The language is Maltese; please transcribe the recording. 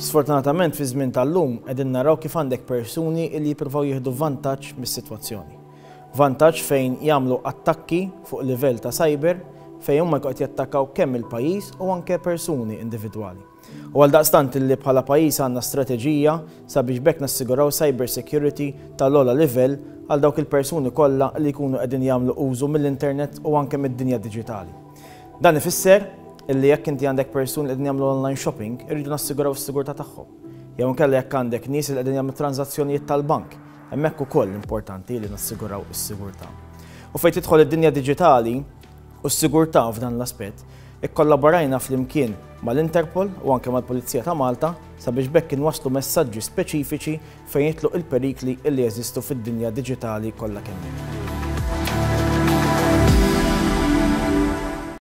Sfortunatament fiż-żmien tal-lum qegħdin naraw kif għandek persuni li jippruvaw jieħdu vantaġġ mis-sitwazzjoni. Vantaġġ fejn jagħmlu attakki fuq livell ta' cyber fejn huma jkunu qed jattakkaw kemm il-pajjiż u anke persuni individwali. U għaldaqstant illi bħala pajjiż għandna strateġija sabiex b'hekk nassiguraw cyber security tal-ogħla livell għal dawk il-persuni kollha li jkunu qegħdin jagħmlu użu mill-internet u anke mid-dinja diġitali. Dan ifisser illi jekk inti għandek persuni li qegħdin jagħmlu online shopping, irridu nassiguraw is-sigurtà tagħhom. Jew inkella jekk għandek nies li qegħdin jagħmlu tranżazzjonijiet tal-bank, hemmhekk ukoll importanti li nassiguraw is-sigurtà. U fejn tidħol id-dinja diġitali u s-sigurtà f'dan l-aspett, ikkollaborajna flimkien mal-Interpol u anke mal-Pulizija ta' Malta sabiex b'hekk inwasslu messaġġi speċifiċi fejn jidħlu il-perikli li jeżistu fid-dinja diġitali kollha kemm hi.